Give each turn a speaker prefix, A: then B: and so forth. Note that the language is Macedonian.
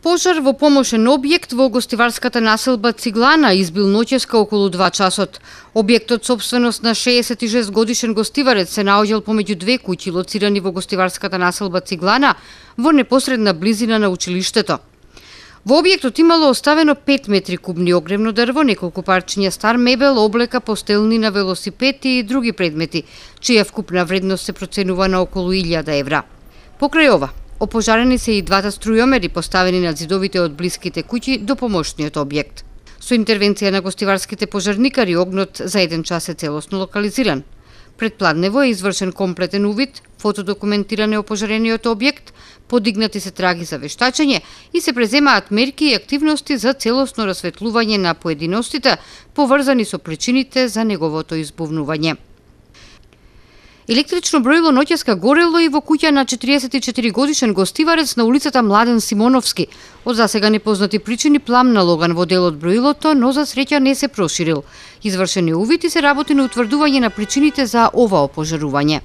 A: Пожар во помошен објект во гостиварската населба Циглана избил ноќеска околу 2 часот. Објектот собственост на 66 годишен гостиварец се наоѓал помеѓу две куќи лоцирани во гостиварската населба Циглана во непосредна близина на училиштето. Во објектот имало оставено 5 метри кубни огревно дрво, неколку парчиња стар мебел, облека, постелни на велосипед и други предмети, чија вкупна вредност се проценува на околу 1000 евра. Покрај ова, опожарени се и двата струјомери поставени на зидовите од блиските куќи до помошниот објект. Со интервенција на гостиварските пожарникари огнот за 1 час е целосно локализиран. Предпладнево е извршен комплетен увид, фотодокументиране опожарениот објект, подигнати се траги за вештачење и се преземаат мерки и активности за целосно расветлување на поединостите поврзани со причините за неговото избувнување. Електрично броило ноќеска горело и во куќа на 44 годишен гостиварец на улицата Младен Симоновски. Од засега непознати причини пламна логан во дел од броилото, но за среќа не се проширил. Извршен е увид и се работи на утврдување на причините за ова опожарување.